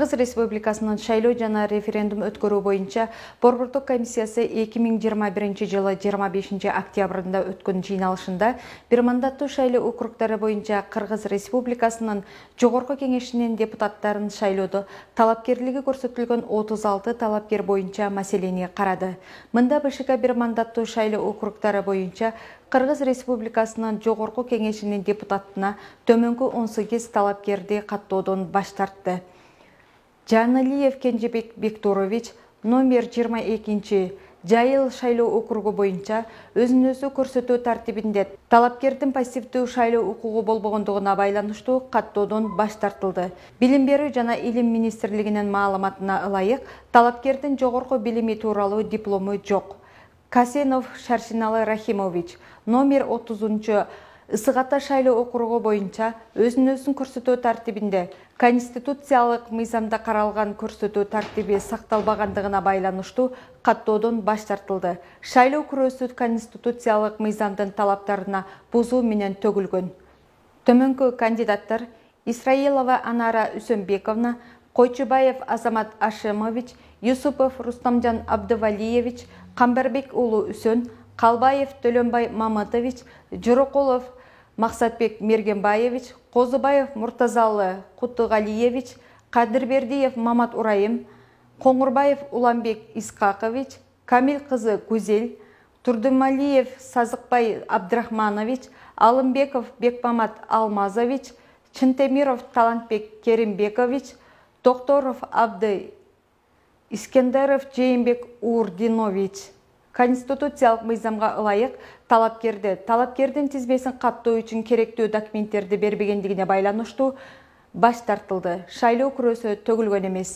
Кыргыз Республикасынын шайлоо жана референдум өткөрүү боюнча Борбордук комиссиясы 2021 жылы 25 октябрында өткөн жыйналышында бир мандаттуу шайлоо округдары боюнча Кыргыз Республикасынын Жогорку Кеңешинин депутаттарын шайлоодо талапкерлиги көрсөтүлгөн 36 талапкер боюнча маселени карады. Мында БШК бир мандаттуу шайлоо округдары боюнча Кыргыз Республикасынын Жогорку Кеңешинин депутатына төмөнкү 18 талапкерди каттоодон баш тартты. Жаналиев Кенжебек Бектурович номер 22 Жайыл шайлоо округу боюнча өзүн-өзү көрсөтүү тартибинде талапкердин пассивдүү шайлоо укугу болбогондугуна байланыштуу каттоодон баш тартылды. Билим берүү жана илим министрлигинин маалыматына ылайык, талапкердин жогорку билими тууралуу диплому жок. Касенов Шаршиналы Рахимович номер 30 Ысык Ата шайлоо округу боюнча өзүн-өзүн көрсөтүү тартибинде конституциялык мыйзамда каралган көрсөтүү тартиби сакталбагандыгына байланыштуу каттоодон баш тартылды. Шайлоо күрөөсү конституциялык мыйзамдын талаптарына бузуу менен төгүлгөн. Төмөнкү кандидаттар Исраилова Анара Үсөнбековна, Койчубаев Азамат Ашимович, Юсупов Рустамжан Абдывалиевич, Камбарбек уулу Үсөн, Калбаев Төлөнбай Мамытович, Жорокулов Максатбек Мергенбаевич, Козубаев Муртазалы Кутугалиевич, Кадырбердиев Мамат Урайым, Коңурбаев Уламбек Искакович, Камил кызы Гүзел, Турдумалиев Сазыкбай Абдрахманович, Алымбеков Бекмамат Алмазович, Чынтемиров Талантбек Керимбекович, Токторов Абды Искендеров Жээнбек Урдинович. Конституциялык мыйзамга ылайык талапкердин тизмесин каттоо үчүн керектүү документтерди бербегендигине байланыштуу баш тартылды. Шайлоо күрөөсү төгүлгөн эмес.